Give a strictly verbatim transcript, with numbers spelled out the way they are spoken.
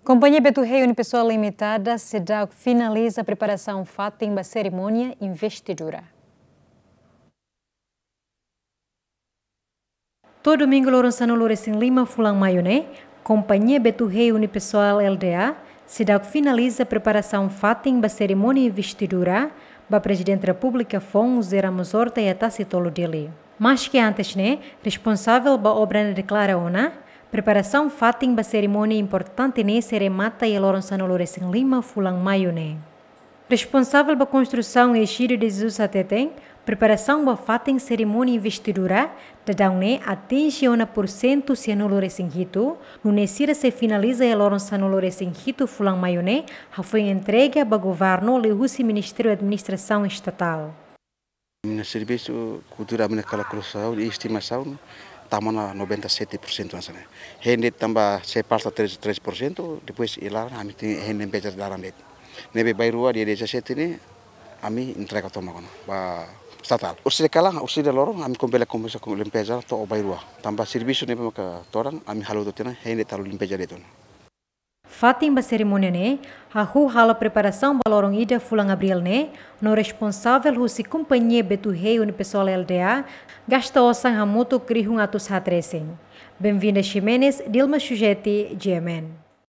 Kompañia Betu Hey Unipessoal Limitada seidauk finaliza preparasaun fatin ba serimónia investidura. To'o domingu loron sanulu-resin-lima fulan Maiu ne'e, Kompañia Betu Hey Unipessoal L D A seidauk finaliza preparasaun fatin ba serimónia investidura ba Prezidente Repúblika foun José Ramos Horta iha Tasitolu, Dili. Maske antes ne'e, responsavel ba obra ne'e deklara ona, preparasaun fatin ba serimónia importante ne'e sei remata iha loron sanulu-resin-lima fulan Maiu ne'e. Responsavel ba konstrusaun Egidio de Jesus hateten, preparasaun ba fatin serimónia investidura daudaun ne'e atinje ona pursentu sianulu-resin-hitu, nune'e sira sei finaliza iha loron sanulu-resin-hitu fulan Maiu ne'e, hafoin entrega ba governu liuhusi Ministériu Administrasaun Estatál. Ami-nia servisu kultura, ami-nia kalkulasaun i estimasaun tama ona noventa e sete por cento hanesan ne'e. Hein de'it tanba sei falta três, três por cento, depois iha laran ami tenke hein limpeza laran de'it. Ne'ebé bainrua dia dezassete ne'e ami entrega tomak ona ba estatál. Orsida kalan, orsida loron ami komesa, komesa ho limpeza to'o bainrua. Tanba servisu ne'ebé maka todan ami halo tiha ona, hein de'it halo limpeza de'it ona. Fatin ba serimónia ne'e hahú halo preparasaun ba loron ida fulan Abríl ne'e, no responsavel husi Kompañia Betu Hey Unipessoal L D A gasta osan hamutuk rihun atus haat resin. Benvinda Ximenes, Dilma Sujeti, G M N.